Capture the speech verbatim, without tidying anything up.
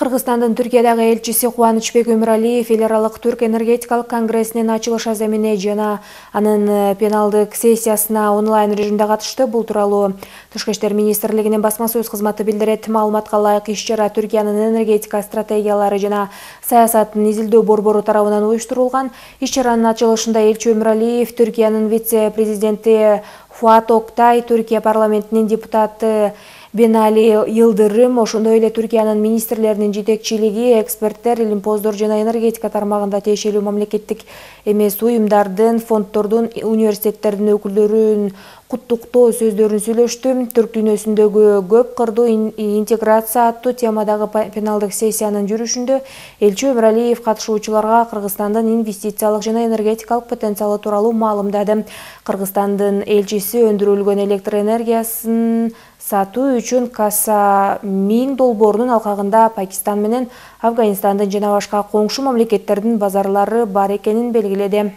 Кыргызстандын Түркиядагы элчиси Кубанычбек Өмүралиев эл аралык Түрк энергетикалык конгрессинин ачылыш аземине жана анын пеналдык сессиясына онлайн режимде катышты. Бул тууралуу Тышкы иштер министрлигинин басма сөз кызматы билдирет. Маалыматка ылайык, иш-чара Түркиянын энергетика стратегиялары жана саясатын изилдөө борбору тарабынан уюштурулган. Иш-чаранын ачылышында элчи Өмүралиев, Түркиянын вице-президенти Фуат Октай, Түркия парламентинин депутаты Бенали Йылдырым, ошондой эле Түркиянын министрлеринин жетекчилиги, эксперттер, илимпоздор жана энергетика тармагында тиешелүү мамлекеттик эмес уюмдардын, фонддордун, университеттердин өкүлдөрүн куттуктоо сөздөрүн сүйлөштү. Түрк дүйнөсүндөгү көп кырдуу интеграция аттуу темадагы пеналдык сессиянын жүрүшүндө элчи Өмүралиев катышуучуларга Кыргызстандын инвестициялык жана энергетикалык потенциалы тууралуу маалымдады. Кыргызстандын элчиси өндүрүлгөн электр энергиясын сатуу үчүн Каса Мин долбоорунун алкагында Пакистан менен Афганистандын жана башка коңшу мамлекеттердин базарлары бар экенин белгиледи.